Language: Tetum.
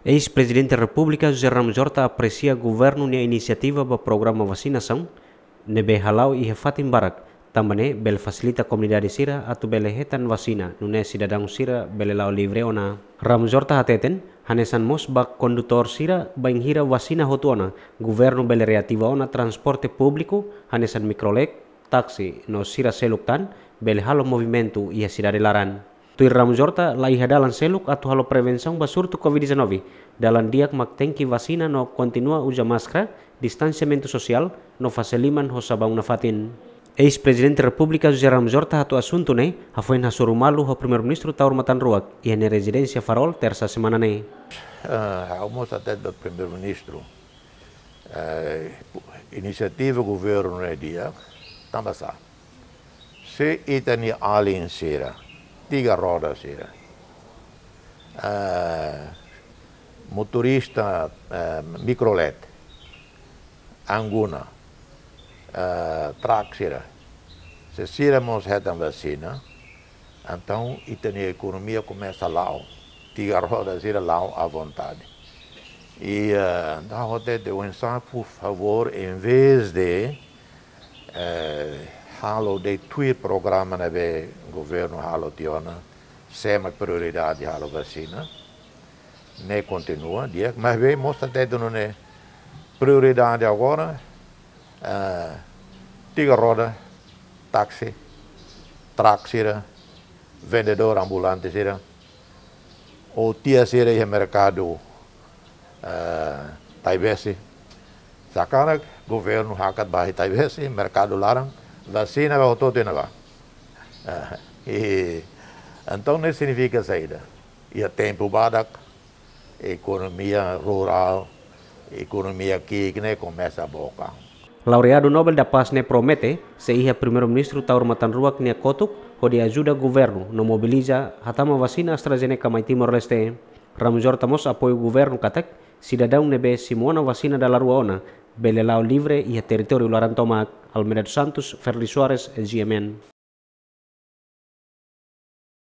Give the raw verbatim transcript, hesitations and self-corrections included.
Eis-Prezidente Repúblika José Ramos Horta apresia governu nia inisiativa ba programa vasinasaun ne'ebé hala'o iha fatin barak, tanba ne'e bele fasilita komunidade sira atu bele hetan vasina, nune'e sidadaun sira bele la'o livre ona. Ramos Horta hateten, hanesan mós ba kondutór sira, bainhira vasina hotu ona, governu bele reativa ona transporte públiku, hanesan mikrolet, taksi, no sira seluk tan, bele halo movimentu iha sidade laran. Tuir Ramos Horta, la iha dalan seluk atu halo prevensaun ba surtu covid dezanove. Dalan di'ak mak tenke vasina no kontinua uza máskara, distansiamentu sosiál, no fase liman ho sabaun nafatin. Eis-Prezidente Repúblika José Ramos Horta hato'o asuntu ne'e, hafoin hasoru malu ho Primeiru-Ministru Taur Matan Ruak, iha nia rezidénsia Farol, Tersa semana ne'e. Ah, ha'u mós hatete ba Primeiru-Ministru, eh, inisiativa governu ne'e di'ak, tanba sá? Se ita-nia alin sira, tiga roda sira, eh, motorista, eh, mikrolet, anguna, eh, trak sira, se sira mós hetan vasina, entaun ita-nia ekonomia komesa la'o, tiga roda sira la'o à vontade. I, eh, entaun ha'u hatete oinsá, por favór, em vez de, eh, halo de'it tuir programa ne'ebé governu halo tiha ona, sé mak prioridade halo vasina, ne'e kontinua di'ak, maibé mós hatete nune'e prioridade agora, eh, tiga roda, taksi, trak sira, vendedór ambulante sira, ou tia sira iha merkadu, eh, Taibesi. Sakarak governu hakat ba iha Taibesi, merkadu laran, vasina ba hotu-hotu iha ne'ebá. Eh, i, entaun ne'e signifika saida? Iha tempu badak, ekonomia rurál, ekonomia ki'ik ne'e komesa book an. Laureadu Nobel da Paz ne'e promete, sei iha Primeiru-Ministru Taur Matan Ruak nia kotuk, hodi ajuda governu no mobiliza hatama vasina AstraZeneca mai Timor-Leste. Ramos Horta mós apoiu governu katak, sidadaun ne'ebé simu ona vasina dala rua ona, bele la'o livre iha territóriu laran tomak. Almeida dos Santos, Ferdi Soares, G M N.